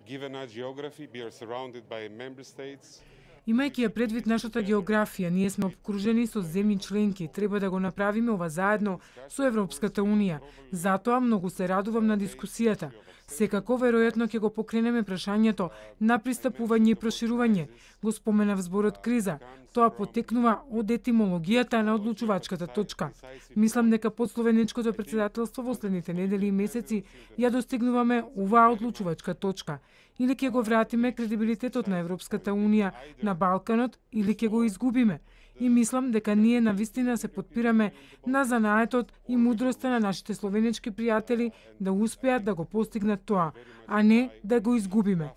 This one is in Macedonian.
Given our geography, we are surrounded by member states. Имајќи ја предвид нашата географија, ние сме обкружени со земји членки, треба да го направиме ова заедно со Европската Унија. Затоа многу се радувам на дискусијата. Секако, веројатно ќе го покренеме прашањето на пристапување и проширување. Го споменав зборот криза. Тоа потекнува од етимологијата на одлучувачката точка. Мислам дека под словенечкото претседателство во следните недели и месеци ја достигнуваме оваа одлучувачка точка. Или ќе го вратиме кредибилитетот на Европската Унија на Балканот, или ќе го изгубиме. И мислам дека ние навистина се потпираме на занаетот и мудроста на нашите словенечки пријатели да успеат да го постигнат тоа, а не да го изгубиме.